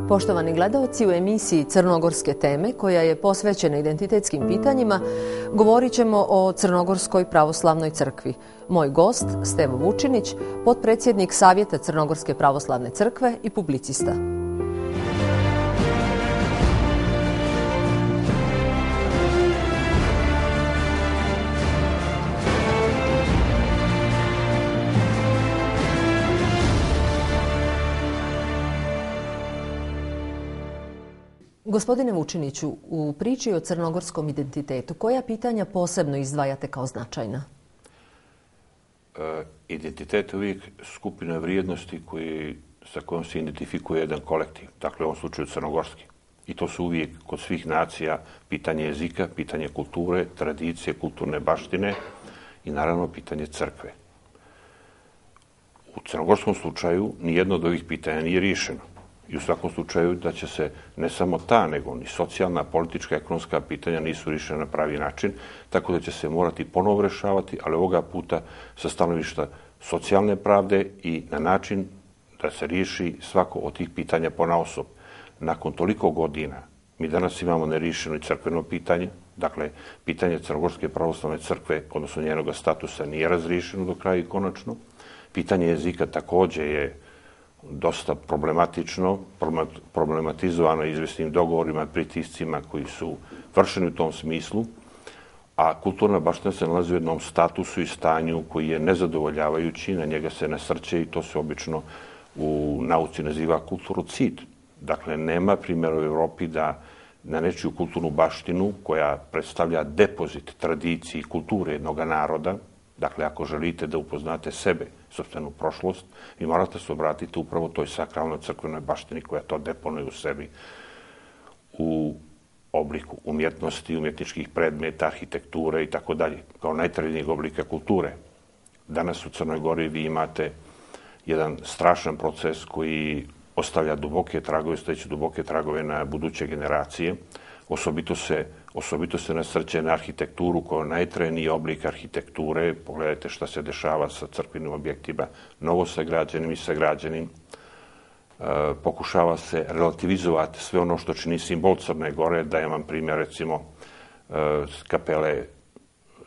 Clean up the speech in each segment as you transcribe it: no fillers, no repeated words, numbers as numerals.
Poštovani gledaoci, u emisiji Crnogorske teme, koja je posvećena identitetskim pitanjima, govorit ćemo o Crnogorskoj pravoslavnoj crkvi. Moj gost, Stevo Vučinić, potpredsjednik Savjeta Crnogorske pravoslavne crkve i publicista. Gospodine Vučiniću, u priči o crnogorskom identitetu, koja pitanja posebno izdvajate kao značajna? Identitet je uvijek skupina vrijednosti sa kojom se identifikuje jedan kolektiv, dakle u ovom slučaju crnogorski. I to su uvijek kod svih nacija pitanje jezika, pitanje kulture, tradicije, kulturne baštine i naravno pitanje crkve. U crnogorskom slučaju nijedno od ovih pitanja nije riješeno. I u svakom slučaju da će se ne samo ta, nego ni socijalna, politička, ekonomska pitanja nisu riješena na pravi način, tako da će se morati ponovo rešavati, ali ovoga puta sa stanovišta socijalne pravde i na način da se riješi svako od tih pitanja ponaosob. Nakon toliko godina mi danas imamo neriješeno i crkveno pitanje, dakle, pitanje Crnogorske pravoslavne crkve, odnosno njenog statusa, nije razriješeno do kraja i konačno. Pitanje jezika također je dosta problematično, problematizovano izvjesnim dogovorima, pritiscima koji su vršeni u tom smislu, a kulturna baština se nalazi u jednom statusu i stanju koji je nezadovoljavajući, na njega se nasrće i to se obično u nauci naziva kulturocid. Dakle, nema primjera u Evropi da na nečiju kulturnu baštinu koja predstavlja depozit tradiciji i kulture jednog naroda, dakle, ako želite da upoznate sebe, sopstvenu prošlost, vi morate se obratiti upravo toj sakralnoj crkvenoj baštini koja to deponuje u sebi u obliku umjetnosti, umjetničkih predmeta, arhitekture i tako dalje, kao najtrajnijeg oblika kulture. Danas u Crnoj Gori vi imate jedan strašan proces koji ostavlja duboke tragove, ostajeće duboke tragove na buduće generacije. Osobito se nasrće na arhitekturu kao najtrajniji oblik arhitekture. Pogledajte šta se dešava sa crkvenim objektima, novosagrađenim i sagrađenim. Pokušava se relativizovati sve ono što čini simbol Crne Gore. Dajem vam primjer, recimo, kapele,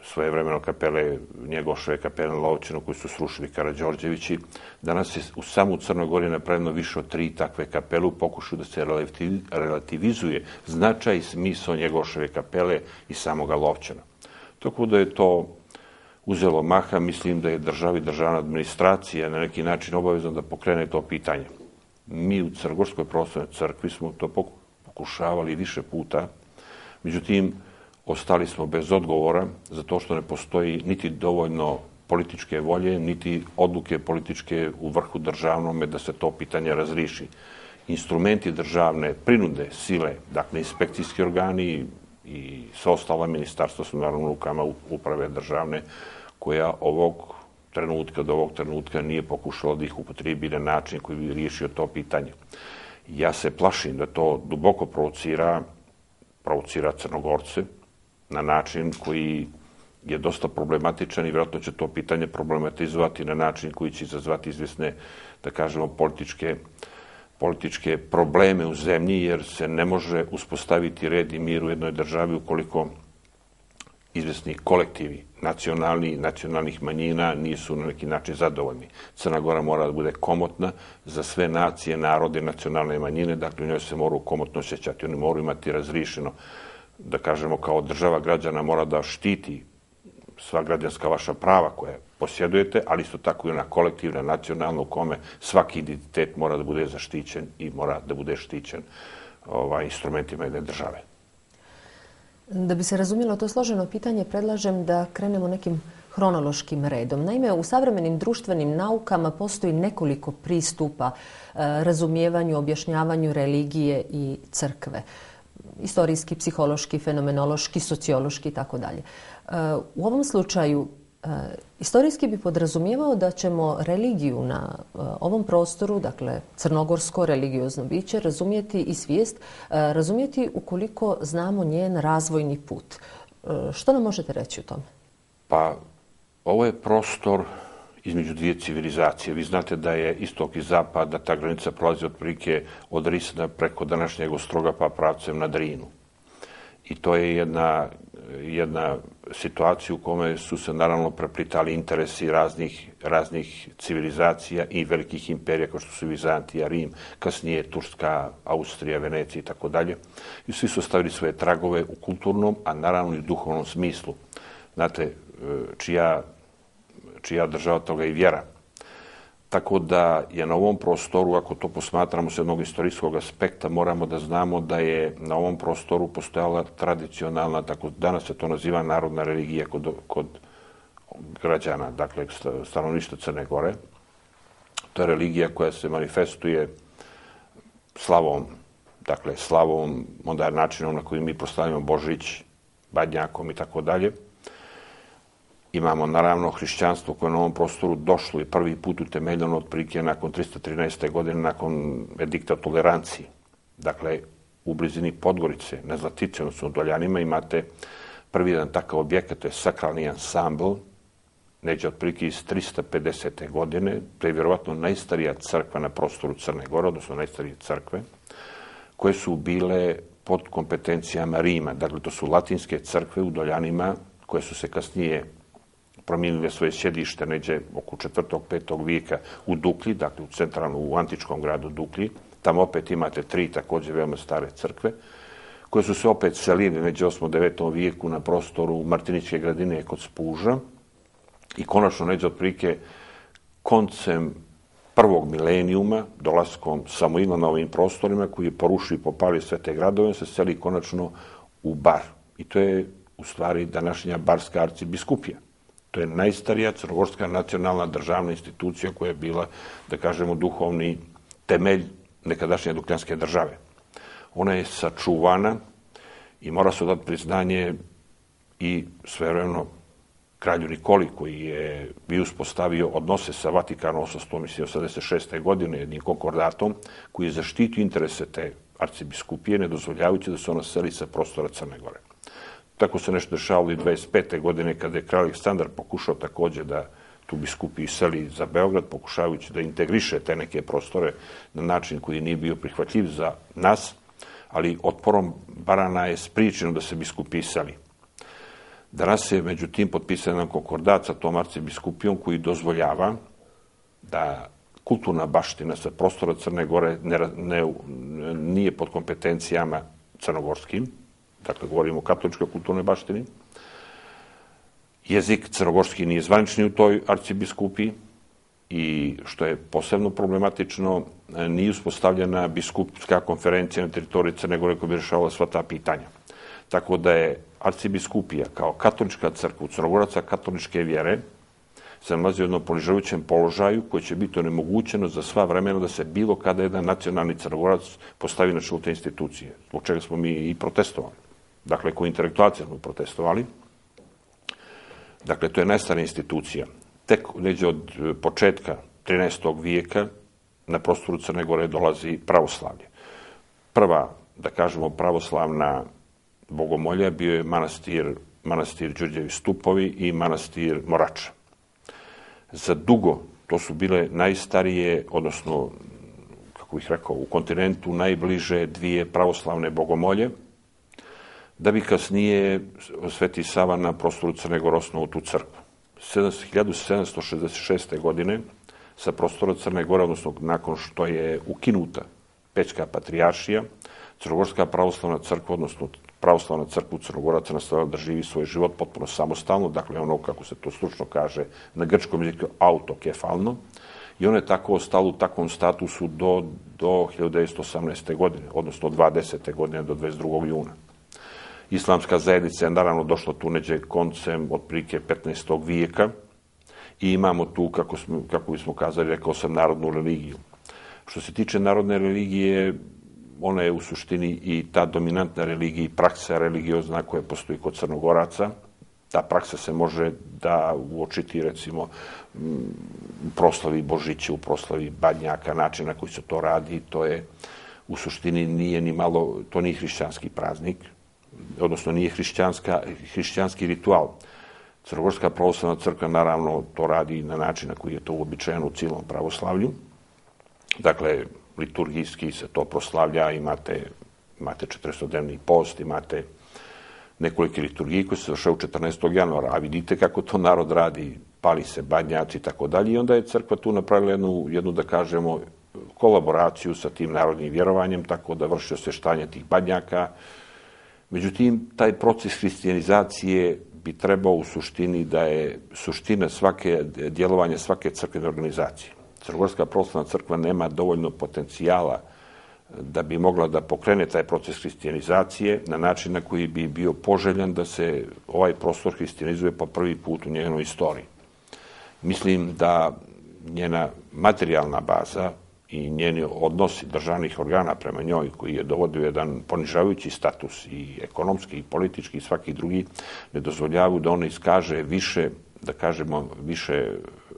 svojevremeno kapele Njegoševe, kapele na Lovćenu koju su srušili Karađorđevići. Danas je u samu Crnoj Gori napravljeno više od 3 takve kapele u pokušaju da se relativizuje značaj i smisao Njegoševe kapele i samoga Lovćena. Tako da je to uzelo maha, mislim da je država i državna administracija na neki način obavezna da pokrene to pitanje. Mi u Crnogorskoj pravoslavnoj crkvi smo to pokušavali više puta, međutim, ostali smo bez odgovora zato što ne postoji niti dovoljno političke volje, niti odluke političke u vrhu državnome da se to pitanje razriši. Instrumenti državne prinude, sile, dakle inspekcijski organi i sva ostala ministarstva su naravno u rukama uprave državne koja do ovog trenutka nije pokušala da ih upotrebi na način koji bi riješio to pitanje. Ja se plašim da to duboko provocira Crnogorce, na način koji je dosta problematičan i vjerojatno će to pitanje problematizovati na način koji će izazvati izvjesne, da kažemo, političke probleme u zemlji, jer se ne može uspostaviti red i mir u jednoj državi ukoliko izvjesni kolektivi nacionalnih manjina nisu na neki način zadovoljni. Crna Gora mora da bude komotna za sve nacije, narode, nacionalne manjine, dakle u njoj se moraju komotno osjećati, oni moraju imati razrišeno, da kažemo, kao država građana mora da štiti sva građanska vaša prava koje posjedujete, ali isto tako i ona kolektivna, nacionalna u kome svaki identitet mora da bude zaštićen i mora da bude štićen instrumentima jedne države. Da bi se razumjelo to složeno pitanje, predlažem da krenemo nekim hronološkim redom. Naime, u savremenim društvenim naukama postoji nekoliko pristupa razumijevanju, objašnjavanju religije i crkve. Istorijski, psihološki, fenomenološki, sociološki i tako dalje. U ovom slučaju, istorijski bi podrazumijevao da ćemo religiju na ovom prostoru, dakle crnogorsko religiozno biće, razumjeti i svijest, razumjeti ukoliko znamo njen razvojni put. Što nam možete reći o tome? Pa, ovo je prostor između dvije civilizacije. Vi znate da je istok i zapad, da ta granica prolazi otprilike od Risna preko današnjeg Ostroga pa pravcem na Drinu. I to je jedna situacija u kome su se naravno preplitali interesi raznih civilizacija i velikih imperija kao što su Vizantija, Rim, kasnije Turska, Austrija, Venecija i tako dalje. I svi su ostavili svoje tragove u kulturnom, a naravno i u duhovnom smislu. Znate, čija država toga i vjera. Tako da je na ovom prostoru, ako to posmatramo s jednog istorijskog aspekta, moramo da znamo da je na ovom prostoru postojala tradicionalna, tako danas se to naziva narodna religija kod građana, dakle stanovništva Crne Gore. To je religija koja se manifestuje slavom, onda načinom na koji mi proslavljamo Božić, Badnjakom i tako dalje. Imamo naravno hrišćanstvo koje je na ovom prostoru došlo i prvi put utemeljeno otprilike nakon 313. godine, nakon edikta o toleranciji. Dakle, u blizini Podgorice, na Zlatici, odnosno u Doljanima, imate prvi jedan takav objekat, to je sakralni ansambl, neđe otprilike iz 350. godine, to je vjerovatno najstarija crkva na prostoru Crne Gore, odnosno najstarije crkve, koje su bile pod kompetencijama Rima. Dakle, to su latinske crkve u Doljanima, koje su se kasnije promijenile svoje sjedište neđe oko 4. 5. vijeka u Duklji, dakle u antičkom gradu Duklji. Tamo opet imate 3 također veoma stare crkve, koje su se opet selili neđe 8. 9. vijeku na prostoru Martiničke gradine kod Spuža i konačno neđe otprilike koncem prvog milenijuma, dolaskom Samuila na ovim prostorima, koji je porušio i popalio sve te gradove, se seli konačno u Bar. I to je u stvari današnja Barska arcibiskupija. To je najstarija crnogorska nacionalna državna institucija koja je bila, da kažemo, duhovni temelj nekadašnje dukljanske države. Ona je sačuvana i mora se dati priznanje i svevremeno kralju Nikoli, koji je bio uspostavio odnose sa Vatikanom 886. godine jednim konkordatom, koji je zaštitio interese te arcibiskupije, ne dozvoljavajući da se ona seli sa prostora Crne Gore. Tako se nešto dešavalo i 25. godine kada je kralj Aleksandar pokušao također da tu biskupiju seli za Beograd, pokušavajući da integriše te neke prostore na način koji nije bio prihvatljiv za nas, ali otporom Barana je spriječeno da se biskupiji seli. Danas je međutim potpisan jedan konkordat sa tom arcibiskupijom koji dozvoljava da kulturna baština sa prostora Crne Gore nije pod kompetencijama crnogorskim, dakle govorimo o katoličkoj kulturnoj baštini. Jezik crnogorski nije zvanični u toj arcibiskupiji i, što je posebno problematično, nije uspostavljena biskupska konferencija na teritoriji Crne Gore koja bi rješavala sva ta pitanja. Tako da je arcibiskupija kao katolička crkva Crnogoraca katoličke vjere se nalazi u jednom ponižavajućem položaju koji će biti onemogućeno za sva vremena da se bilo kada jedan nacionalni Crnogorac postavi na čelo te institucije, zbog čega smo mi i protestovali. Dakle, koji intelektualci smo protestovali. Dakle, to je najstarija institucija. Tek neđe od početka 13. vijeka na prostoru Crne Gore dolazi pravoslavlje. Prva, da kažemo, pravoslavna bogomolja bio je manastir Đurđevi stupovi i manastir Morača. Za dugo to su bile najstarije, odnosno, kako bih rekao, u kontinentu najbliže dvije pravoslavne bogomolje, da bi kasnije Sveti Sava na prostoru Crne Gore osnovao tu crkvu. 1766. godine sa prostora Crne Gore, odnosno nakon što je ukinuta Pećka patrijaršija, Crnogorska pravoslavna crkva, odnosno pravoslavna crkva Crnogoraca nastavila da živi svoj život potpuno samostalno, dakle ono, kako se to stručno kaže, na grčkom jeziku autokefalno, i ona je tako ostala u takvom statusu do 1918. godine, odnosno od 20. godine do 22. juna. Islamska zajednica je naravno došla tu neđe koncem otprilike 15. vijeka i imamo tu, kako bismo kazali, rekao sam, narodnu religiju. Što se tiče narodne religije, ona je u suštini i ta dominantna religija i praksa religiozna koja postoji kod Crnogoraca. Ta praksa se može da uočiti, recimo, u proslavi Božića, u proslavi Badnjaka, način na koji se to radi, to je u suštini nije ni malo, to nije hrišćanski praznik, odnosno nije hrišćanski ritual. Crnogorska pravoslavna crkva naravno to radi na način na koji je to uobičajeno u cijelom pravoslavlju. Dakle, liturgijski se to proslavlja, imate 40-dnevni post, imate nekolike liturgije koje se završaju 14. januara, a vidite kako to narod radi, pali se badnjaci i tako dalje. I onda je crkva tu napravila jednu da kažemo, kolaboraciju sa tim narodnim vjerovanjem, tako da vrši osvještanje tih badnjaka. Međutim, taj proces hrišćanizacije bi trebao u suštini da je suština djelovanja svake crkvene organizacije. Crnogorska pravoslavna crkva nema dovoljno potencijala da bi mogla da pokrene taj proces hrišćanizacije na način na koji bi bio poželjan da se ovaj prostor hrišćanizuje po prvi put u njenoj istoriji. Mislim da njena materijalna baza i njeni odnosi državnih organa prema njoj, koji je dovodio jedan ponižavajući status i ekonomski, i politički, i svaki drugi, ne dozvoljavaju da ona iskaže više, da kažemo, više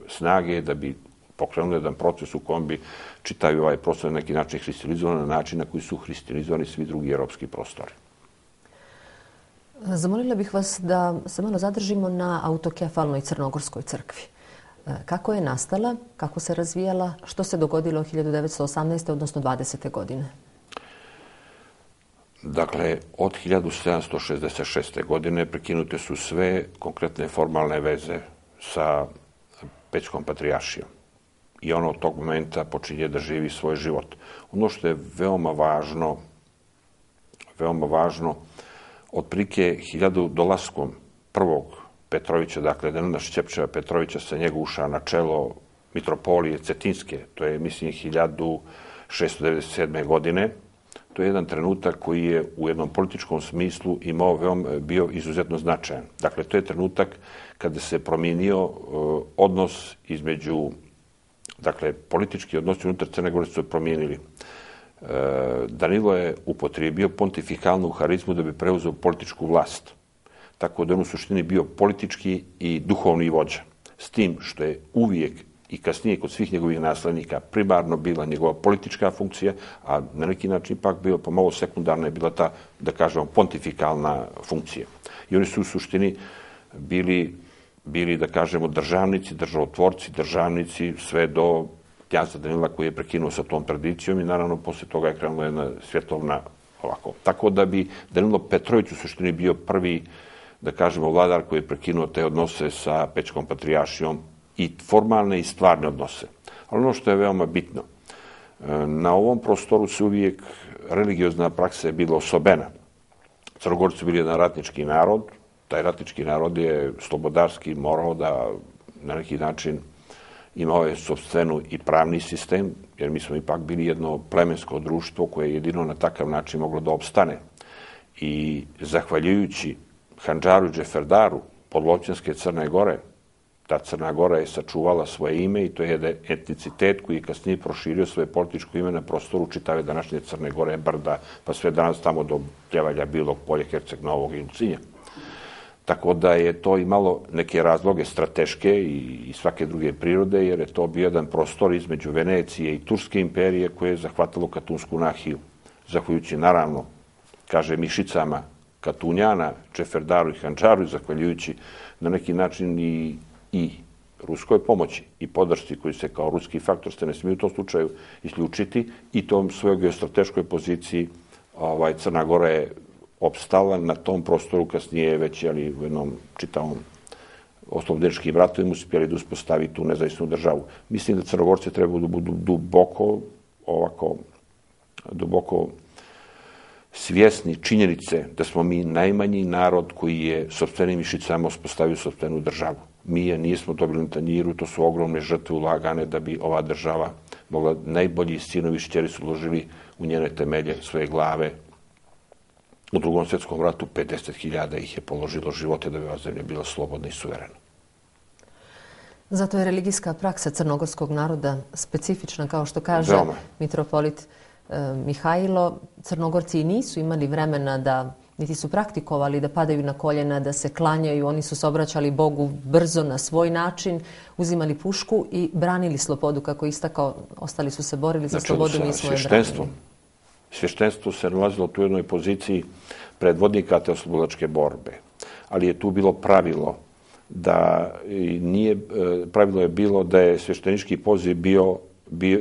snage da bi pokrenuli jedan proces u kojem bi čitavi ovaj prostor na neki način hrišćanizovan na način na koji su hrišćanizovani svi drugi europski prostori. Zamolila bih vas da se malo zadržimo na autokefalnoj crnogorskoj crkvi. Kako je nastala, kako se razvijala, što se dogodilo 1918. odnosno 20. godine? Dakle, od 1766. godine prekinute su sve konkretne formalne veze sa Pećkom patrijaršijom. I ona od tog momenta počinje da živi svoj život. Ono što je veoma važno, otprilike 1000 dolaskom prvog Petrovića, dakle Danila Šćepčeva Petrovića sa njega ušao na čelo mitropolije Cetinske, to je mislim 1697. godine. To je jedan trenutak koji je u jednom političkom smislu bio izuzetno značajan. Dakle, to je trenutak kada se promijenio odnos između, dakle, politički odnosi unutar Crne Gore su se promijenili. Danilo je upotrijebio pontifikalnu harizmu da bi preuzeo političku vlast. Tako da on u suštini bio politički i duhovni vođa. S tim što je uvijek i kasnije kod svih njegovih naslednika primarno bila njegova politička funkcija, a na neki način ipak bio pomalo sekundarna je bila ta, da kažemo, pontifikalna funkcija. I oni su u suštini bili, da kažemo, državnici, državotvorci, državnici, sve do knjaza Danila koji je prekinuo sa tom tradicijom i naravno posle toga je krenula jedna svjetovna ovako. Tako da bi Danilo Petrović u suštini bio prvi, da kažemo, vladar koji je prekinuo te odnose sa Pećkom patrijaršijom i formalne i stvarne odnose. Ali ono što je veoma bitno, na ovom prostoru se uvijek religiozna praksa je bila osobena. Crnogorci su bili jedan ratnički narod, taj ratnički narod je slobodarski morao da na neki način imao je sopstvenu i pravni sistem, jer mi smo ipak bili jedno plemensko društvo koje je jedino na takav način moglo da opstane. I zahvaljujući Handžaru i Džeferdaru podlovćanske Crne Gore, ta Crna Gora je sačuvala svoje ime i to je jedan etnicitet koji je kasnije proširio svoje političko ime na prostoru čitave današnje Crne Gore, Brda, pa sve danas tamo do Pljevalja, Bilog Polje, Herceg Novog i Ulcinja. Tako da je to imalo neke razloge strateške i svake druge prirode, jer je to bio jedan prostor između Venecije i Turske imperije koje je zahvatalo Katunsku nahiju. Zahvaljujući, naravno, kaže, mišicama Katunjana, Džeferdaru i Handžaru i zahvaljujući na neki način i ruskoj pomoći i podršci koji se kao ruski faktor se ne smije u tom slučaju isključiti i tom svojoj geostrateškoj poziciji Crna Gora je opstala na tom prostoru, kasnije već u jednom čitavom oslobodeničkim ratovima uspjeli da uspostavi tu nezavisnu državu. Mislim da Crnogorci trebaju da budu duboko svjesni činjenice da smo mi najmanji narod koji je sopstvenim mišicama uspostavio sopstvenu državu. Mi je nismo dobili na tanjiru, to su ogromne žrtve ulagane da bi ova država mogla, najbolji sinovi i šćeri su uložili u njene temelje svoje glave. U Drugom svjetskom ratu 50.000 ih je položilo živote da bi ova zemlja bila slobodna i suverena. Zato je religijska praksa crnogorskog naroda specifična, kao što kaže mitropolit Mihajlo. Crnogorci i nisu imali vremena da, niti su praktikovali da padaju na koljena, da se klanjaju. Oni su se obraćali Bogu brzo na svoj način, uzimali pušku i branili slobodu, kako istakao. Ostali su se borili za slobodu, mi smo je branili. Svještenstvo se nalazilo u jednoj poziciji predvodnika te oslobodačke borbe. Ali je tu bilo pravilo da nije, pravilo je bilo da je sveštenički poziv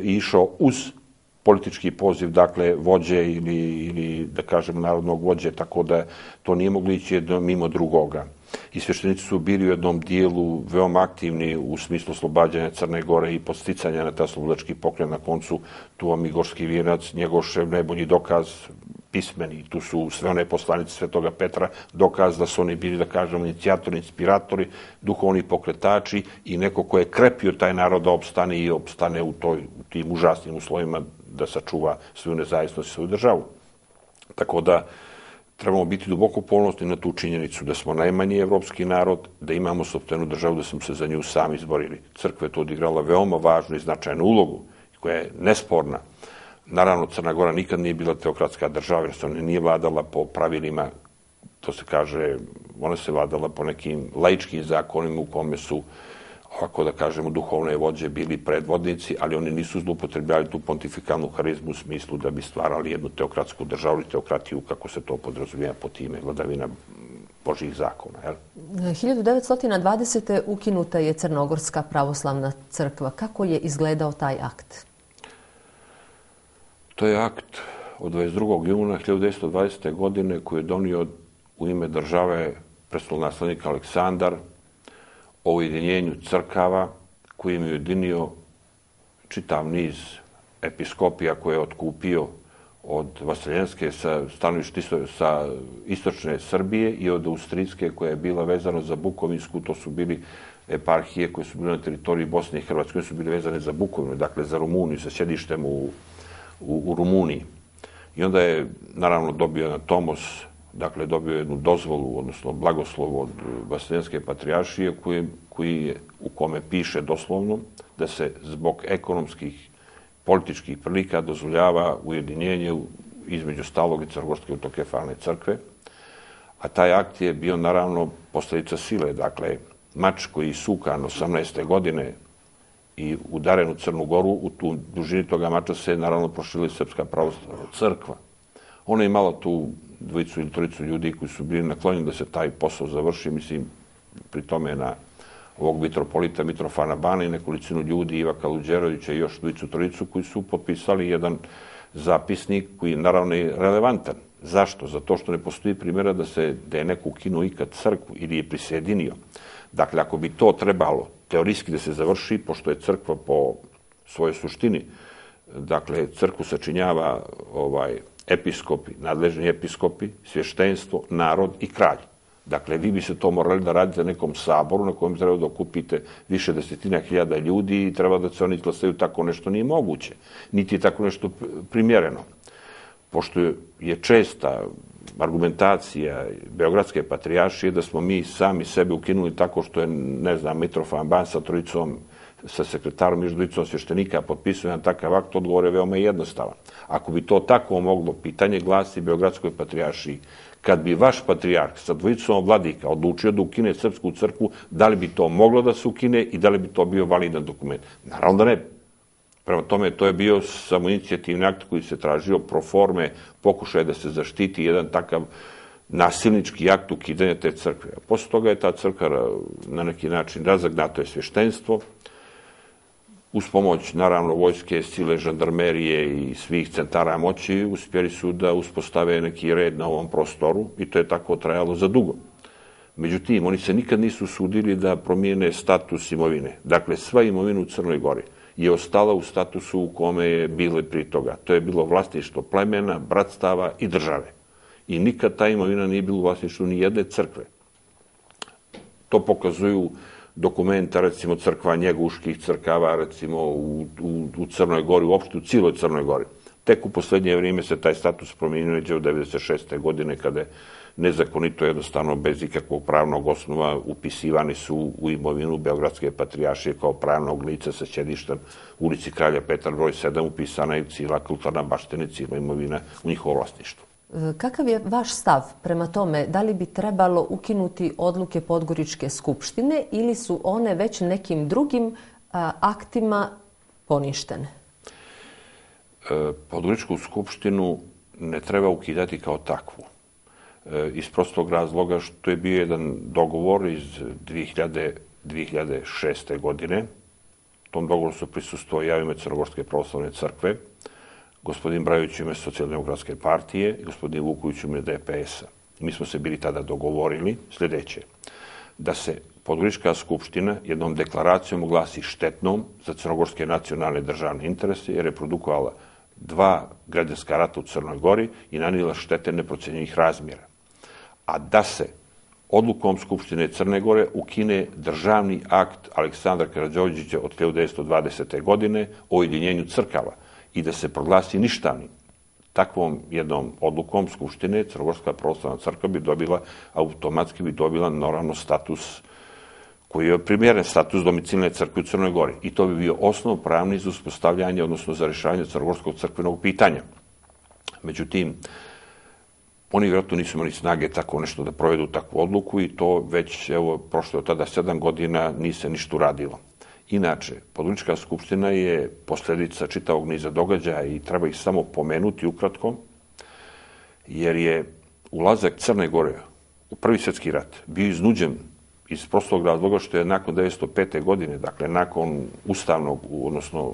išao uz politički poziv, dakle, vođe ili da kažem, narodnog vođe, tako da to nije moglo ići mimo drugoga. I sveštenici su bili u jednom dijelu veoma aktivni u smislu oslobađanja Crne Gore i podsticanja na ta slobodački pokret. Na koncu tu vam i Gorski vijenac, Njegošev najbolji dokaz, pismeni, tu su sve one poslanice Svetoga Petra, dokaz da su oni bili, da kažemo, inicijatori, inspiratori, duhovni pokretači i neko ko je krepio taj narod da opstane i opstane u tim užasnim uslovima da sačuva svoju nezavisnost i svoju državu. Tako da trebamo biti duboko ponosni na tu činjenicu da smo najmanji evropski narod, da imamo sopstvenu državu, da smo se za nju sami izborili. Crkva je tu odigrala veoma važnu i značajnu ulogu, koja je nesporna. Naravno, Crna Gora nikad nije bila teokratska država, jer se ona nije vladala po pravilima, to se kaže, ona se vladala po nekim laičkim zakonima u kome su, ovako da kažemo, duhovne vođe bili predvodnici, ali oni nisu zloupotrebljavali tu pontifikalnu harizmu u smislu da bi stvarali jednu teokratsku državu ili teokratiju, kako se to podrazumijeva po time, vladavina Božjih zakona. 1920. ukinuta je Crnogorska pravoslavna crkva. Kako je izgledao taj akt? To je akt od 22. juna 1920. godine koji je donio u ime države prestolonaslednik Aleksandar o ujedinjenju crkava, kojim je ujedinio čitav niz episkopija koje je otkupio od Vaseljenske sa istočne Srbije i od Austrijske koja je bila vezana za Bukovinsku. To su bili eparhije koje su bile na teritoriji Bosne i Hrvatske, koje su bile vezane za Bukovinu, dakle za Rumuniju, sa sjedištem u Rumuniji. I onda je, naravno, dobio jedan tomos, dakle, dobio jednu dozvolu, odnosno blagoslov od Vaseljenske patrijaršije, u kome piše doslovno da se zbog ekonomskih, političkih prilika dozvoljava ujedinjenje između Stalog i Crnogorske autokefalne crkve. A taj akt je bio, naravno, posljedica sile. Dakle, mač koji je sukan 18. godine i udaren u Crnu Goru, u tu dužini toga mača se, naravno, proširila Srpska pravoslavna crkva. Ona je imala tu dvojicu ili trojicu ljudi koji su bili naklonjeni da se taj posao završi, mislim, pri tome na ovog mitropolita Mitrofana Bana i nekolicinu ljudi, Iva Kaluđerovića i još dvojicu trojicu, koji su potpisali jedan zapisnik koji je naravno relevantan. Zašto? Zato što ne postoji primjera da je neko ukinuo ikad crkvu ili je prisjedinio. Dakle, ako bi to trebalo teorijski da se završi, pošto je crkva po svojoj suštini, dakle, crkvu sačinjava episkopi, nadležni episkopi, svještenstvo, narod i kralj. Dakle, vi bi se to morali da radite na nekom saboru na kojem treba da okupite više desetina hiljada ljudi i treba da se oni izglasaju. Tako nešto nije moguće. Niti je tako nešto primjereno. Pošto je česta argumentacija Beogradske patrijaršije da smo mi sami sebe ukinuli tako što je, ne znam, Mitrofan Ban sa trojicom, sa sekretarom i dvojicom svještenika potpisuje na takav akt, odgovor je veoma jednostavan. Ako bi to tako moglo, pitanje glasi Beogradskoj patrijaršiji, kad bi vaš patrijarh sa dvojicom vladika odlučio da ukine Srpsku crkvu, da li bi to moglo da se ukine i da li bi to bio validan dokument? Naravno da ne. Prema tome, to je bio samoinicijativni akt koji se tražio pro forme, pokušaje da se zaštiti jedan takav nasilnički akt ukidanja te crkve. Posle toga je ta crkva na neki način razagnata je svještenstvo, uz pomoć, naravno, vojske, sile, žandarmerije i svih centara moći uspjeli su da uspostave neki red na ovom prostoru i to je tako trajalo za dugo. Međutim, oni se nikad nisu sudili da promijene status imovine. Dakle, sva imovina u Crnoj Gori je ostala u statusu u kome je bilo prije toga. To je bilo vlasništvo plemena, bratstava i države. I nikad ta imovina nije bila u vlasništvu ni jedne crkve. To pokazuju dokumenta, recimo, crkva njeguških crkava, recimo, u Crnoj Gori, uopšte u cijeloj Crnoj Gori. Tek u posljednje vrijeme se taj status promijenio od 1996. godine, kada je nezakonito, jednostavno, bez ikakvog pravnog osnova, upisivani su u imovinu Beogradske patrijaršije kao pravnog lica sa sjedištem u ulici Kralja Petra broj 7, upisana je cijela kulturna baština, cijela imovina u njihovo vlasništvo. Kakav je vaš stav prema tome, da li bi trebalo ukinuti odluke Podgoričke skupštine ili su one već nekim drugim aktima poništene? Podgoričku skupštinu ne treba ukidati kao takvu. iz prostog razloga što je bio jedan dogovor iz 2006. godine. Tom dogovoru su prisustvovali ja u ime Crnogorske pravoslavne crkve, gospodin Brajović u ime Socijaldemokratske partije i gospodin Vuković u ime DPS-a. Mi smo se bili tada dogovorili sljedeće, da se Podgorička skupština jednom deklaracijom oglasi štetnom za crnogorske nacionalne državne interese jer je produkovala 2 građanska rata u Crnoj Gori i nanijela štete neprocenjivih razmjera. A da se odlukom Skupštine Crne Gore ukine državni akt Aleksandra Karađorđevića od 1920. godine o ujedinjenju crkava i da se proglasi ništavnim. Takvom jednom odlukom Skupštine Crnogorska pravoslavna crkva bi dobila, automatski bi dobila naravno status koji je primjeren status domicilne crkve u Crnoj Gori. I to bi bio osnov pravni za uspostavljanje, odnosno za rješavanje crnogorskog crkvenog pitanja. Međutim, oni vjerojatno nisu imali snage tako nešto da provedu takvu odluku i to već, evo, prošlo je od tada 7 godina, nije se ništa uradilo. Inače, Podgorička skupština je posljedica čitavog niza događaja i treba ih samo pomenuti ukratko, jer je ulazak Crne Gore u Prvi svjetski rat bio iznuđen iz prostog razloga što je nakon 1905. godine, dakle nakon ustavnog, odnosno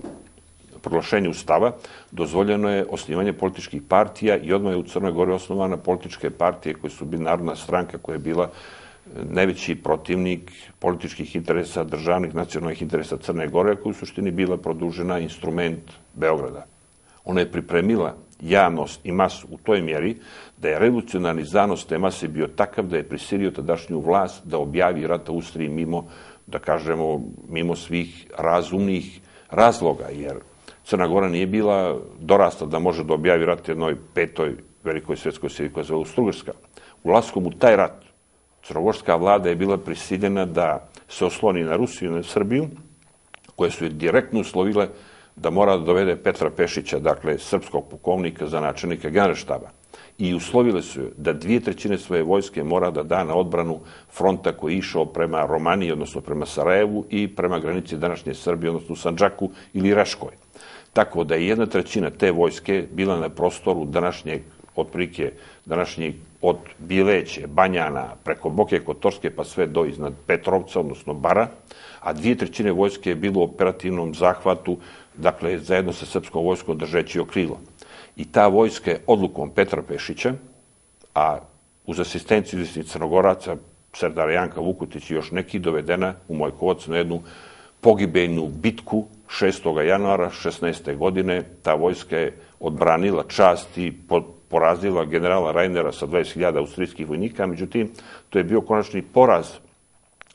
proglašenja ustava, dozvoljeno je osnivanje političkih partija i odmah je u Crnoj Gori osnovana političke partije koje su bili Narodna stranka koja je bila najveći protivnik političkih interesa, državnih nacionalnih interesa Crne Gore, koja je u suštini bila produžena instrument Beograda. Ona je pripremila javnost i masu u toj mjeri da je revolucionarni zanos te mase bio takav da je prisilio tadašnju vlast da objavi rat Austriji mimo, da kažemo, mimo svih razumnih razloga, jer Crna Gora nije bila dorasla da može da objavi rat jednoj petoj velikoj svjetskoj sili koja se zove Austrougarska. Ulaskom u taj rat crnogorska vlada je bila prisiljena da se osloni na Rusiju i na Srbiju, koje su je direktno uslovile da mora da dovede Petra Pešića, dakle srpskog pukovnika za načelnika Generalštaba. I uslovile su je da 2/3 svoje vojske mora da da na odbranu fronta koji je išao prema Romaniji, odnosno prema Sarajevu i prema granici današnje Srbije, odnosno Sandžaku ili Raškoj. Tako da je 1/3 te vojske bila na prostoru današnjeg, otprilike današnjeg od Bileće, Banjana, preko Boke Kotorske pa sve do iznad Petrovca, odnosno Bara, a 2/3 vojske je bilo u operativnom zahvatu, dakle zajedno sa srpskom vojskom držeći okrilo. I ta vojska je odlukom Petra Pešića, a uz asistenciju izvesnih Crnogoraca, Serdara Janka Vukotić i još neki, dovedena u Mojkovac na jednu pogibeljnu bitku 6. januara 16. godine. Ta vojska je odbranila čast i porazila generala Reinera sa 20.000 austrijskih vojnika, međutim, to je bio konačni poraz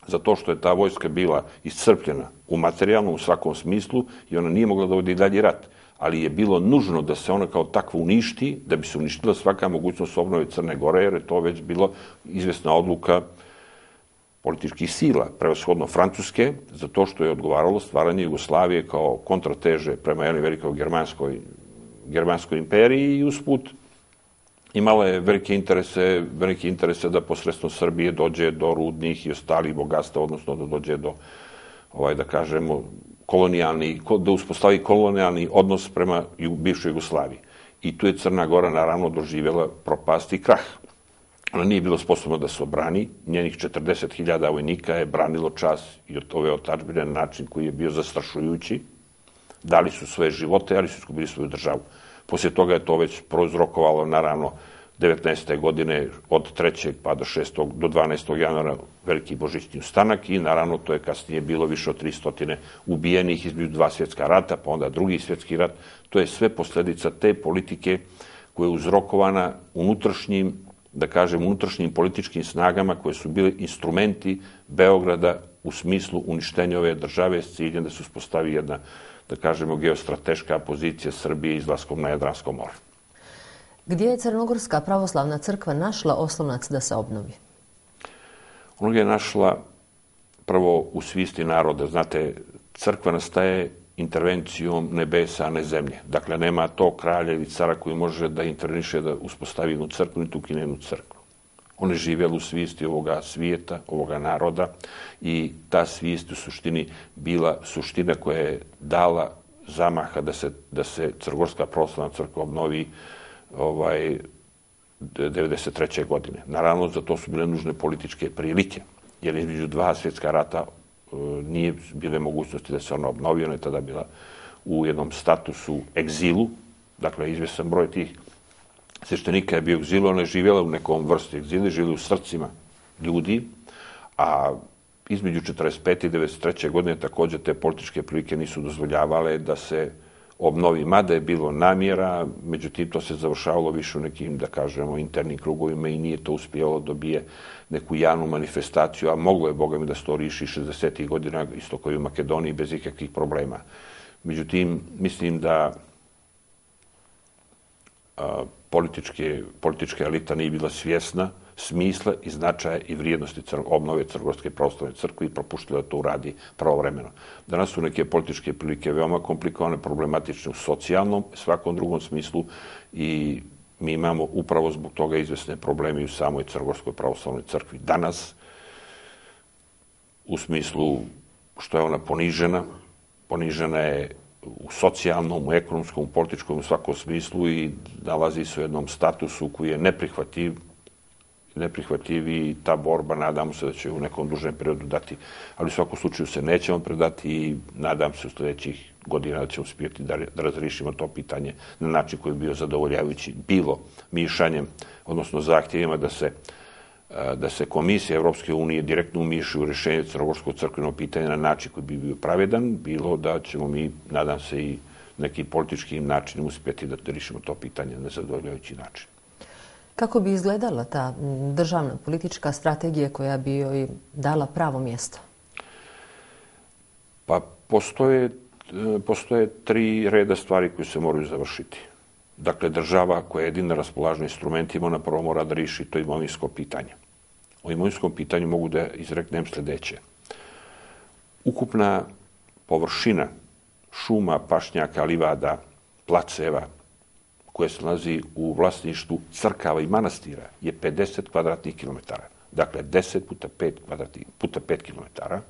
za to što je ta vojska bila iscrpljena u materijalnom, u svakom smislu i ona nije mogla da vodi dalje rat. Ali je bilo nužno da se ona kao takva uništi, da bi se uništila svaka mogućnost obnove Crne Gore, jer je to već bilo izvesna odluka političkih sila, prevashodno Francuske, za to što je odgovaralo stvaranje Jugoslavije kao kontrateže prema jednoj velikoj germanskoj imperiji i usput imala je velike interese da posredstvom Srbije dođe do rudnih i ostalih bogatstva, odnosno da dođe do, da kažemo, da uspostavi kolonijalni odnos prema bivšoj Jugoslaviji. I tu je Crna Gora naravno doživjela propast i krah. Ona nije bila sposobna da se obrani, njenih 40.000 vojnika je branilo čast i od ove otadžbine na način koji je bio zastrašujući. Dali su svoje živote, ali su izgubili svoju državu. Poslije toga je to već prouzrokovalo, naravno, 19. godine od 3. pa do 6. do 12. januara veliki božićni ustanak i naravno to je kasnije bilo više od 300 ubijenih između 2 svjetska rata, pa onda drugi svjetski rat. To je sve posljedica te politike koja je uzrokovana unutrašnjim, da kažem, unutrašnjim političkim snagama koje su bile instrumenti Beograda u smislu uništenja ove države s ciljem da se uspostavi jedna, da kažemo, geostrateška pozicija Srbije izlaskom na Jadransko more. Gdje je Crnogorska pravoslavna crkva našla oslonac da se obnovi? Ona ga je našla prvo u svijesti naroda. Znate, crkva nastaje intervencijom nebesa, a ne zemlje. Dakle, nema to kralja ili cara koji može da interveniše da uspostavi jednu crkvu, niti ukine jednu crkvu. On je živjela u svijesti ovoga svijeta, ovoga naroda i ta svijest u suštini bila suština koja je dala zamaha da se Crnogorska pravoslavna crkva obnovi 1993. godine. Naravno, za to su bile nužne političke prilike, jer između dva svjetska rata nije bile mogućnosti da se ona obnovi. Ona je tada bila u jednom statusu egzilu, dakle, izvjestan broj tih sveštenika je bio egzilu, ona je živjela u nekom vrsti egzila, živjela u srcima ljudi, a između 1945. i 1993. godine također te političke prilike nisu dozvoljavale da se obnovi, mada je bilo namjera, međutim to se završavalo više u nekim, da kažemo, internim krugovima i nije to uspjelo dobije neku javnu manifestaciju, a moglo je, boga mi, da se to riši 60. godina, isto kao i u Makedoniji, bez ikakvih problema. Međutim, mislim da politička elita nije bila svjesna smisla i značaja i vrijednosti obnove Crnogorske pravoslavne crkve i propuštila da to uradi pravovremeno. Danas su neke političke prilike veoma komplikovane, problematične u socijalnom, svakom drugom smislu i mi imamo upravo zbog toga izvesne probleme i u samoj Crnogorskoj pravoslavnoj crkvi. Danas, u smislu što je ona ponižena je u socijalnom, u ekonomskom, u političkom, u svakom smislu i nalazi se u jednom statusu koji je neprihvatljiv i ta borba, nadamo se da će u nekom dužem periodu dati, ali u svakom slučaju se nećemo predati i nadam se u sljedećih godina da ćemo uspjeti da razrišimo to pitanje na način koji je bio zadovoljavajući, bilo mišanjem, odnosno zahtjevima da se Komisija Evropske unije direktno umiši u rješenje crnogorskog crkvenog pitanja na način koji bi bio pravedan, bilo da ćemo mi, nadam se, i nekim političkim načinom uspjeti da rješimo to pitanje na zadovoljavajući način. Kako bi izgledala ta državna politička strategija koja bi joj dala pravo mjesto? Pa postoje tri reda stvari koje se moraju završiti. Dakle, država koja je jedina raspolažna instrumentima, ona prvo mora da riješi to imovinsko pitanje. O imovinskom pitanju mogu da izreknem sljedeće. Ukupna površina šuma, pašnjaka, livada, placeva, koje se nalazi u vlasništvu crkava i manastira, je 50 kvadratnih kilometara. Dakle, 10 puta 5 kilometara.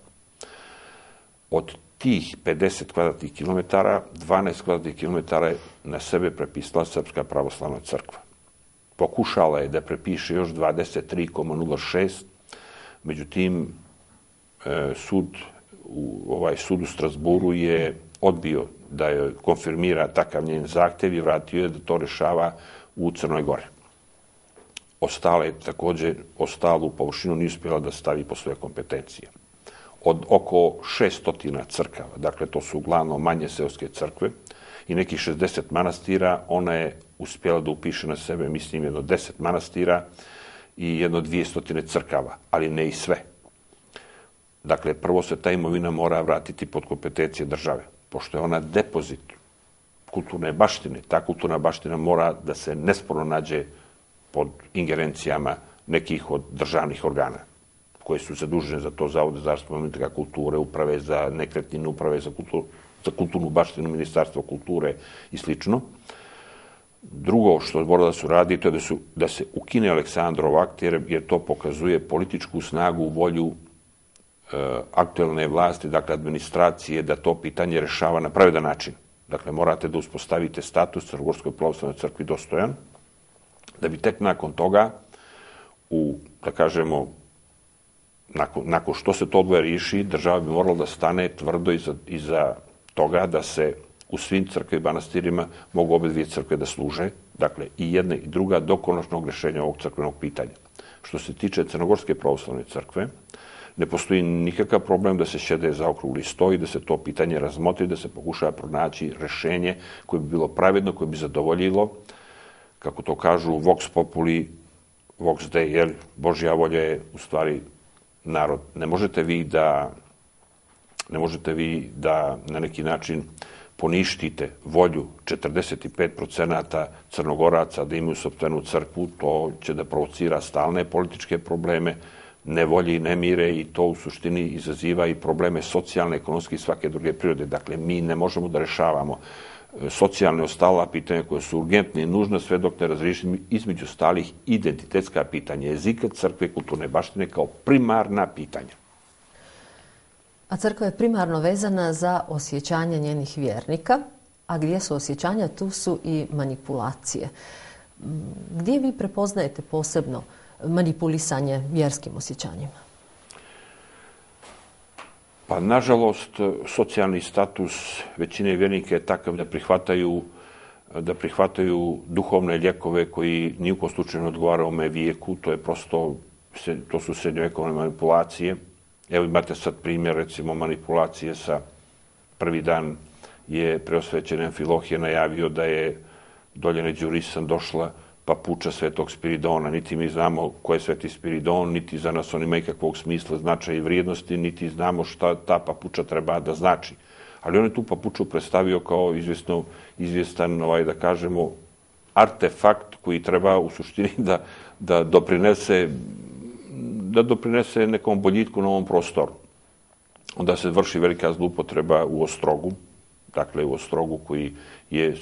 Od tih 50 kvadratnih kilometara, 12 kvadratnih kilometara je na sebe prepisala Srpska pravoslavna crkva. Pokušala je da prepiše još 23,06, međutim, sud u Strasburu je odbio da joj konfirmira takav njen zahtjev i vratio je da to rešava u Crnoj Gori. Ostalu površinu nije uspjela da stavi po svoje kompetencije. Od oko 600 crkava, dakle to su uglavnom manje seoske crkve i nekih 60 manastira, ona je uspjela da upiše na sebe, mislim, jedno 10 manastira i jedno 200 crkava, ali ne i sve. Dakle, prvo se ta imovina mora vratiti pod kompetencije države, pošto je ona depozit kulturne baštine. Ta kulturna baština mora da se nesporno nađe pod ingerencijama nekih od državnih organa koje su zadužene za to, Zavode za zaštitu spomenika kulture, uprave za nekretnine, uprave za kulturnu baštinu, Ministarstvo kulture i slično. Drugo što mora da se uradi, to je da se ukine Aleksandrov akt, jer to pokazuje političku snagu, volju aktuelne vlasti, dakle administracije, da to pitanje rešava na pravedan način. Dakle, morate da uspostavite status Crnogorskoj pravoslavnoj crkvi dostojan, da bi tek nakon toga, da kažemo, nakon što se to odvoje riješi, država bi morala da stane tvrdo iza toga da se u svim crkve i manastirima mogu obe dvije crkve da služe, dakle i jedna i druga, do konačnog rješenja ovog crkvenog pitanja. Što se tiče Crnogorske pravoslavne crkve, ne postoji nikakav problem da se sjede za okrugli sto i da se to pitanje razmotri, da se pokušava pronaći rješenje koje bi bilo pravedno, koje bi zadovoljilo, kako to kažu, vox populi, vox dei, jer Božja volja je u stvari narod. Ne možete vi da na neki način poništite volju 45% Crnogoraca da imaju sopstvenu crkvu, to će da provocira stalne političke probleme, nevolje i nemire i to u suštini izaziva i probleme socijalne, ekonomske i svake druge prirode. Dakle, mi ne možemo da rešavamo socijalne ostala pitanja koje su urgentne i nužne sve dok ne razrišimo između stalih identitetska pitanja jezika, crkve, kulturne baštine kao primarna pitanja. A crkva je primarno vezana za osjećanja njenih vjernika, a gdje su osjećanja, tu su i manipulacije. Gdje vi prepoznajete posebno manipulisanje vjerskim osjećanjima? Pa, nažalost, socijalni status većine vjernika je takav da prihvataju duhovne lijekove koji ni u kom slučaju ne odgovaraju ovome vijeku. To su srednjovekovne manipulacije. Evo imate sad primjer, recimo, manipulacije sa prvi dan je preosvećen Amfilohije najavio da je Doljane Đurisan došla papuča Svetog Spiridona. Niti mi znamo ko je Sveti Spiridon, niti za nas on ima ikakvog smisla, značaja i vrijednosti, niti znamo šta ta papuča treba da znači. Ali on je tu papuču predstavio kao izvjestan, da kažemo, artefakt koji treba u suštini da doprinese nekom boljitku na ovom prostoru. Onda se vrši velika zloupotreba u Ostrogu, dakle u Ostrogu koji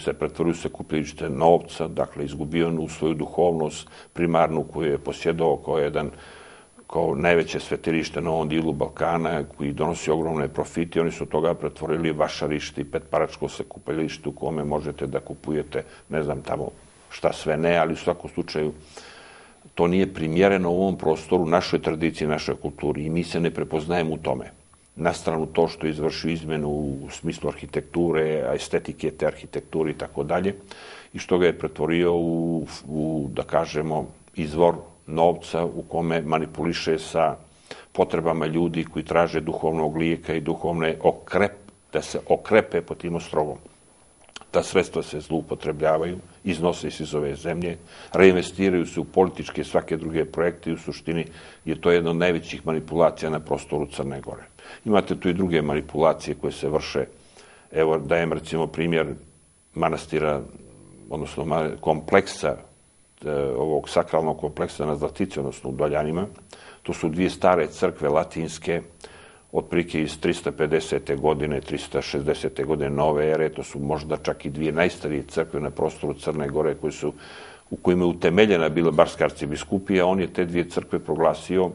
se pretvorio u sakupljalište novca, dakle izgubio u svoju duhovnost primarnu koju je posjedao kao najveće svetilište na ovom dilu Balkana koji donosi ogromne profite. Oni su od toga pretvorili vašarište i petparačko sakupljalište u kome možete da kupujete, ne znam tamo šta sve ne, ali u svakom slučaju to nije primjereno u ovom prostoru, našoj tradiciji, našoj kulturi i mi se ne prepoznajemo u tome. Na stranu to što je izvršio izmenu u smislu arhitekture, estetike te arhitekture i tako dalje, i što ga je pretvorio u, da kažemo, izvor novca u kome manipuliše sa potrebama ljudi koji traže duhovnog lijeka i da se okrepe pod tim ostrogom. Ta sredstva se zloupotrebljavaju, iznose se iz ove zemlje, reinvestiraju se u političke i svake druge projekte i u suštini je to jedna od najvećih manipulacija na prostoru Crne Gore. Imate tu i druge manipulacije koje se vrše. Evo, dajem recimo primjer manastira, odnosno kompleksa, ovog sakralnog kompleksa na Zlatici, odnosno u Doljanima. To su dvije stare crkve latinske, otprilike iz 350. godine, 360. godine nove ere. To su možda čak i dvije najstarije crkve na prostoru Crne Gore u kojima je utemeljena bila Barska arcibiskupija. On je te dvije crkve proglasio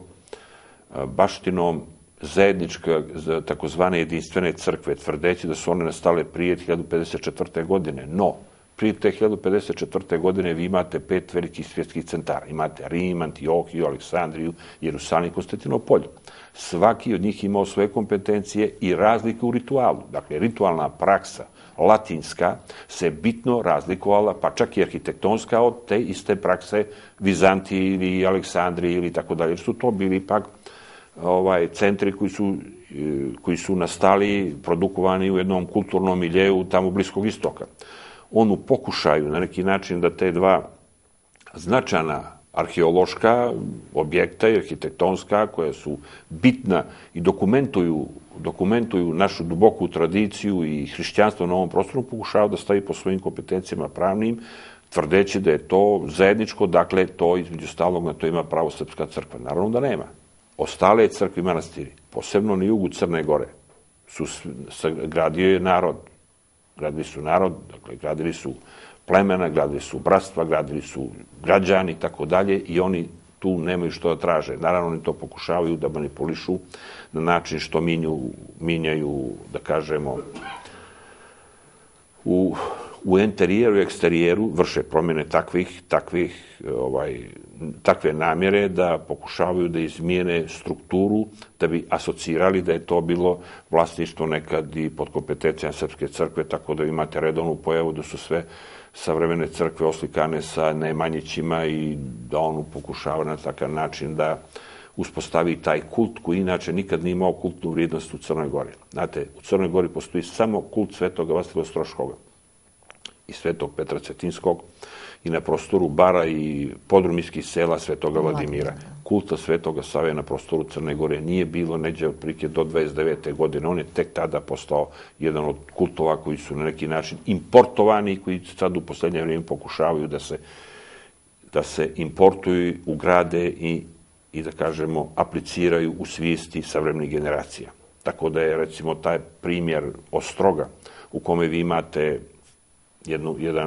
baštinom zajedničke, takozvane jedinstvene crkve, tvrdeći da su one nastale prije 1054. godine. No, prije te 1054. godine vi imate 5 velikih svjetskih centara. Imate Rim, Antiohiju, Aleksandriju, Jerusalim i Konstantinopolj. Svaki od njih imao svoje kompetencije i razlike u ritualu. Dakle, ritualna praksa latinska se bitno razlikovala, pa čak i arhitektonska, od te iste prakse Vizantije ili Aleksandrije ili tako dalje. Su to bili ipak centri koji su nastali, produkovani u jednom kulturnom miljeu tamo Bliskog istoka. On u pokušaju na neki način da te dva značajna arheološka objekta i arhitektonska koja su bitna i dokumentuju našu duboku tradiciju i hrišćanstvo na ovom prostoru, pokušavaju da stavi po svojim kompetencijama pravnim, tvrdeći da je to zajedničko, dakle to između stalog na to ima pravo Srpska crkva. Naravno da nema. Ostale crkve i manastiri, posebno na jugu Crne Gore, gradio je narod. Gradili su narod, dakle, gradili su plemena, gradili su bratstva, gradili su građani i tako dalje i oni tu nemaju što da traže. Naravno, oni to pokušavaju da manipulišu na način što minjaju, da kažemo, u interijeru i eksterijeru, vrše promjene takve namjere da pokušavaju da izmijene strukturu, da bi asocirali da je to bilo vlasništvo nekad i pod kompetencijama Srpske crkve, tako da imate redovnu pojavu da su sve savremene crkve oslikane sa Nemanjićima i da on pokušava na takav način da uspostavi taj kult koji inače nikad nije imao kultnu vrijednost u Crnoj Gori. Znate, u Crnoj Gori postoji samo kult Svetoga Vasilija Ostroškoga i Svetog Petra Cetinskog i na prostoru Bara i podrumijskih sela Svetoga Vladimira. Kulta Svetoga Save na prostoru Crne Gore nije bilo neđe otprilike do 29. godine. On je tek tada postao jedan od kultova koji su na neki način importovani i koji sad u poslednje vrijeme pokušavaju da se importuju, ugrade i da kažemo apliciraju u svijesti savremenih generacija. Tako da je recimo taj primjer Ostroga u kome vi imate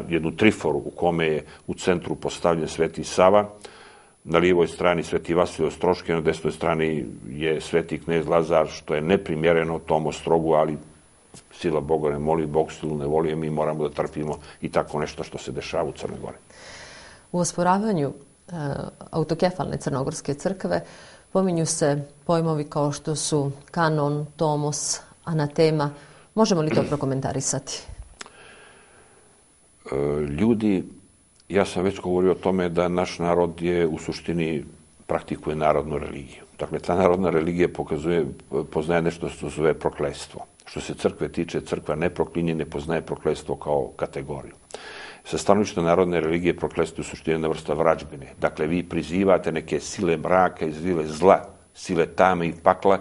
jednu triforu u kome je u centru postavljen Sveti Sava, na lijevoj strani Sveti Vasilij Ostroški, na desnoj strani je Sveti knez Lazar, što je neprimjereno tom Ostrogu, ali sila Boga ne moli, Bog silu ne voli, mi moramo da trpimo i tako nešto što se dešava u Crnoj Gori. U osporavanju autokefalne crnogorske crkve pominju se pojmovi kao što su kanon, tomos, anatema. Možemo li to prokomentarisati? Ljudi, ja sam već govorio o tome da naš narod je u suštini praktikuje narodnu religiju. Dakle, ta narodna religija poznaje nešto što se zove prokletstvo. Što se crkve tiče, crkva ne proklinje, ne poznaje prokletstvo kao kategoriju. Sa stanovišta narodne religije prokletstvo je u suštini jedna vrsta vrađbine. Dakle, vi prizivate neke sile mraka i sile zla, sile tame i pakla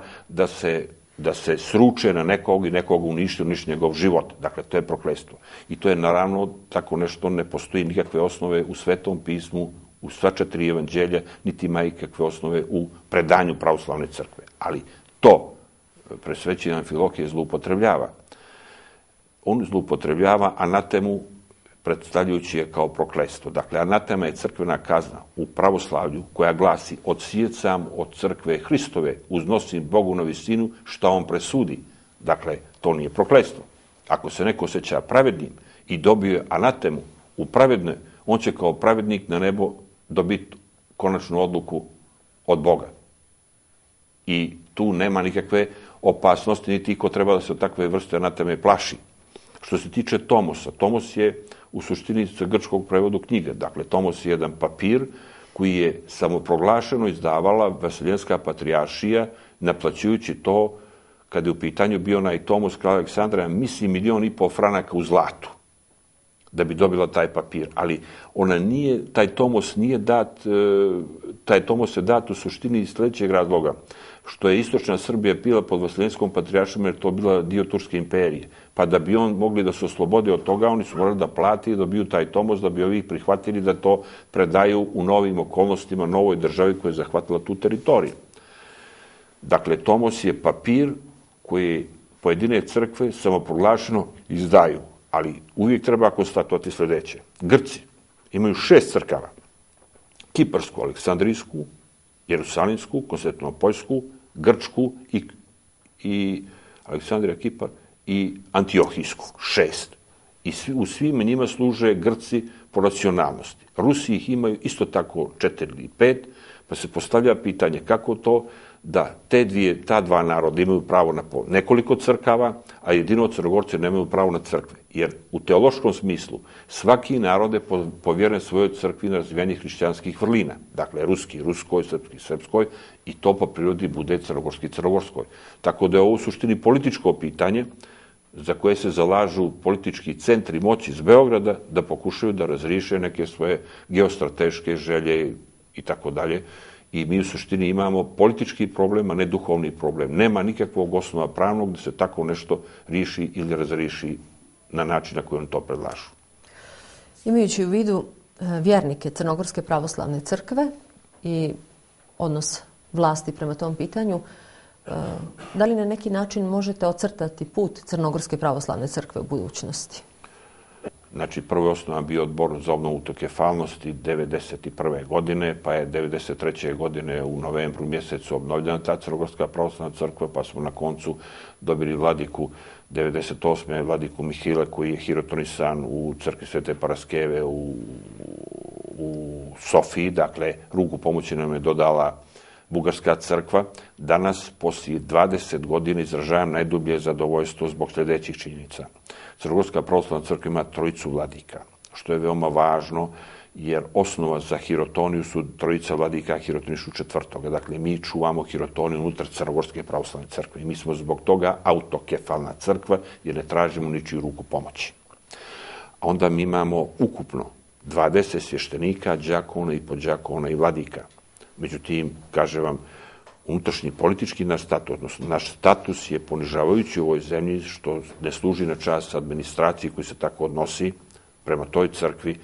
da se sruče na nekog i nekog uništi njegov život. Dakle, to je prokletstvo. I to je naravno tako nešto, ne postoji nikakve osnove u Svetom pismu, u sva 4 evanđelja, niti ima ikakve osnove u predanju pravoslavne crkve. Ali to presvećeni Amfilohije zloupotrebljava. On zloupotrebljava anatemu predstavljajući je kao prokletstvo. Dakle, anatema je crkvena kazna u pravoslavlju koja glasi: odsijecam od crkve Hristove, uznosim Bogu na visinu šta on presudi. Dakle, to nije prokletstvo. Ako se neko osjeća pravednim i dobije anatemu u pravedne, on će kao pravednik na nebo dobiti konačnu odluku od Boga. I tu nema nikakve opasnosti, niti ko treba da se od takve vrste anateme plaši. Što se tiče tomosa, tomos je u suštini sa grčkog prevodu knjiga. Dakle, tomos je jedan papir koji je samoproglašeno izdavala Vaseljenska patrijaršija, naplaćujući to, kada je u pitanju bio onaj tomos kralja Aleksandra, mislim 1,5 miliona franaka u zlatu, da bi dobila taj papir. Ali taj tomos nije dat, taj tomos je dat u suštini iz sljedećeg razloga, što je istočna Srbija bila pod Vaseljenskom patrijaršijom, jer to bila dio Turske imperije. Pa da bi on mogli da se oslobode od toga, oni su morali da plati i dobiju taj tomos, da bi ovi prihvatili da to predaju u novim okolnostima, novoj državi koja je zahvatila tu teritoriju. Dakle, tomos je papir koji pojedine crkve samoproglašeno izdaju, ali uvijek treba konstatovati sljedeće. Grci imaju 6 crkava: Kiparsku, Aleksandrijsku, Jerusalimsku, Konstantinopoljsku, Grčku i Aleksandrija, Kipar i Antiohijsku. 6. I u svim njima služe Grci po racionalnosti. Rusi ih imaju isto tako 4 ili 5, pa se postavlja pitanje kako to da ta dva naroda imaju pravo na nekoliko crkava, a jedino Crnogorci nemaju pravo na crkve. Jer u teološkom smislu svaki narod je povjeren svojoj crkvi na razvijanju hrišćanskih vrlina. Dakle, ruski ruskoj, srpski srpskoj, i to po prirodi bude crnogorski crnogorskoj. Tako da je ovo u suštini političko pitanje za koje se zalažu politički centri moći iz Beograda da pokušaju da razriješe neke svoje geostrateške želje i tako dalje. I mi u suštini imamo politički problem, a ne duhovni problem. Nema nikakvog osnova pravnog da se tako nešto riješi ili razriješi na način na koji oni to predlažu. Imajući u vidu vjernike Crnogorske pravoslavne crkve i odnos vlasti prema tom pitanju, da li na neki način možete ocrtati put Crnogorske pravoslavne crkve u budućnosti? Znači, prvo je osnovan bio odbor za obnovu autokefalnosti 1991. godine, pa je 1993. godine u novembru mjesecu obnovljena ta Crnogorska pravoslavna crkva, pa smo na koncu dobili vladiku 1998. vladiku Mihila, koji je hirotonisan u crkvi Svete Paraskeve u Sofiji. Dakle, ruku pomoći nam je dodala Bugarska crkva. Danas, poslije 20 godina, izražavam najdublje zadovoljstvo zbog sljedećih činjenica. Crnogorska pravoslavna crkva ima 3 vladika, što je veoma važno, jer osnova za hirotoniju su 3 vladika, hirotonišu 4. Dakle, mi čuvamo hirotoniju unutar Crnogorske pravoslavne crkve i mi smo zbog toga autokefalna crkva, jer ne tražimo ničiju ruku pomoći. A onda mi imamo ukupno 20 svještenika, đakona i podđakona i vladika. Međutim, kažem vam, unutrašnji politički naš status je ponižavajući u ovoj zemlji, što ne služi na čast administraciji koji se tako odnosi prema toj crkvi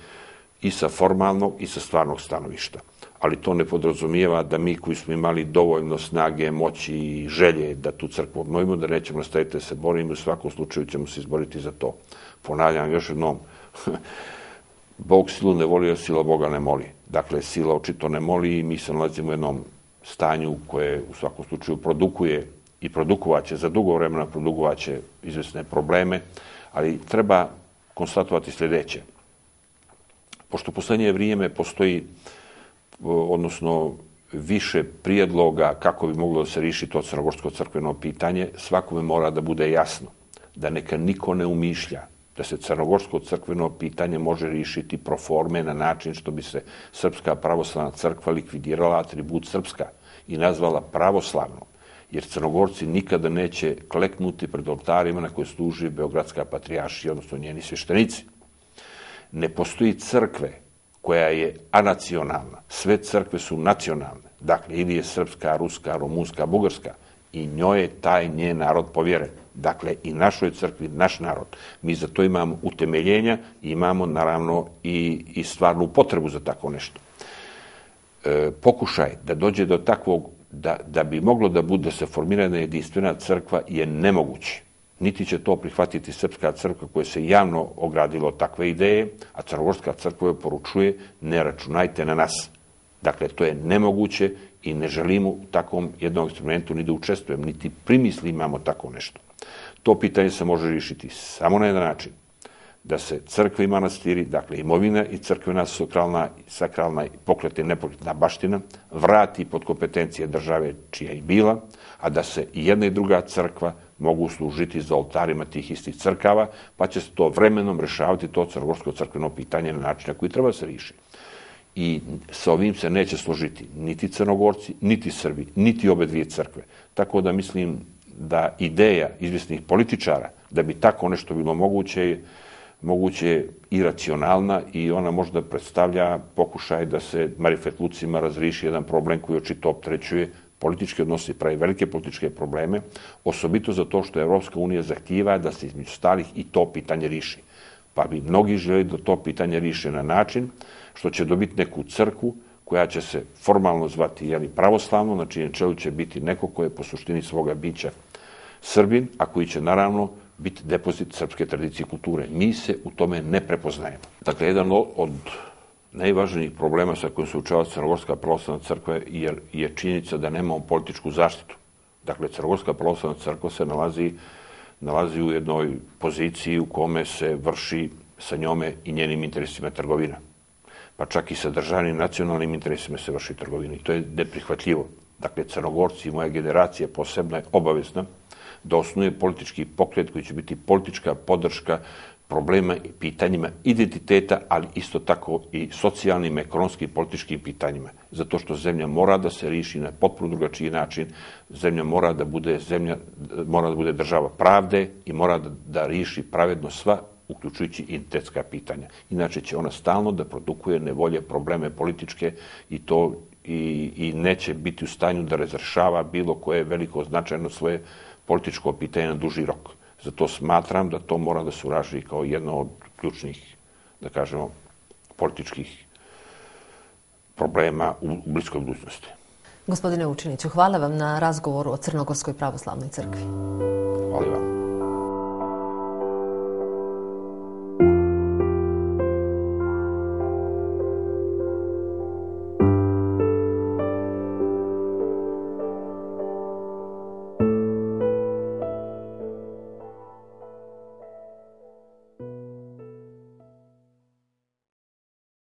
i sa formalnog i sa stvarnog stanovišta. Ali to ne podrazumijeva da mi koji smo imali dovoljno snage, moći i želje da tu crkvu obnovimo, da nećemo nastaviti da se borimo, u svakom slučaju ćemo se izboriti za to. Ponavljam još jednom, Bog silu ne voli, a sila Boga ne moli. Dakle, sila očito ne moli i mi se nalazimo u jednom stanju koje u svakom slučaju produkuje i produkovaće, za dugo vremena produkovaće izvjesne probleme, ali treba konstatovati sljedeće. Pošto u poslednje vrijeme postoji, odnosno više prijedloga kako bi moglo da se riješi to crnogorsko crkveno pitanje, svakome mora da bude jasno da neka niko ne umišlja da se crnogorsko crkveno pitanje može riješiti pro forme na način što bi se Srpska pravoslavna crkva likvidirala atribut srpska i nazvala pravoslavnom, jer Crnogorci nikada neće kleknuti pred oltarima na koje služi Beogradska patrijaršija, odnosno njeni sveštenici. Ne postoji crkve koja je anacionalna. Sve crkve su nacionalne. Dakle, ili je srpska, ruska, rumunska, bugarska i njoj je taj njen narod povjeren. Dakle, i našoj crkvi, naš narod. Mi za to imamo utemeljenja i imamo, naravno, i stvarnu potrebu za tako nešto. Pokušaj da dođe do takvog, da bi moglo da bude se formirana jedinstvena crkva je nemoguće. Niti će to prihvatiti Srpska crkva koja se javno ogradila od takve ideje, a Crnogorska crkva joj poručuje ne računajte na nas. Dakle, to je nemoguće i ne želimo u takvom jednom eksperimentu ni da učestvujem, niti primisli imamo tako nešto. To pitanje se može riješiti samo na jedan način, da se crkve i manastiri, dakle imovina i crkvena sakralna pokretna i nepokretna baština vrati pod kompetencije države čija je bila, a da se i jedna i druga crkva mogu služiti za oltarima tih istih crkava, pa će se to vremenom rešavati to crnogorsko crkveno pitanje na način na koji treba se riješi. I sa ovim se neće složiti niti Crnogorci, niti Srbi, niti obe dvije crkve. Tako da mislim da ideja izvjesnih političara da bi tako nešto bilo moguće je iracionalna i ona možda predstavlja pokušaj da se marifetlucima razriši jedan problem koji očito opterećuje politički odnosi, pravi velike političke probleme, osobito zato što Evropska unija zahtijeva da se između ostalih i to pitanje riši. Pa bi mnogi želi da to pitanje riše na način što će dobiti neku crkvu koja će se formalno zvati pravoslavno, na čijem čelu će biti neko ko je po suštini svoga bića Srbin, a koji će naravno biti depozit srpske tradicije i kulture. Mi se u tome ne prepoznajemo. Dakle, jedan od najvažnijih problema sa kojim se učava Crnogorska pravoslavna crkva je činjenica da nemamo političku zaštitu. Dakle, Crnogorska pravoslavna crkva se nalazi u jednoj poziciji u kome se vrši sa njome i njenim interesima trgovina. Pa čak i sa državnim nacionalnim interesima se vrši trgovina i to je neprihvatljivo. Dakle, Crnogorci i moja generacija posebno je obavezna da osnuje politički pokret koji će biti politička podrška problema i pitanjima identiteta, ali isto tako i socijalnim, ekonomskim i političkim pitanjima. Zato što zemlja mora da se riješi na potpuno drugačiji način. Zemlja mora da bude država pravde i mora da riješi pravedno sva, uključujući identitetska pitanja. Inače će ona stalno da produkuje nevolje, probleme političke i neće biti u stanju da razrešava bilo koje veliko značajno svoje političko pitanje na duži rok. Zato smatram da to mora da se uraži kao jedno od ključnih, da kažemo, političkih problema u bliskoj budućnosti. Gospodine Vučiniću, hvala vam na razgovoru o Crnogorskoj pravoslavnoj crkvi. Hvala vam.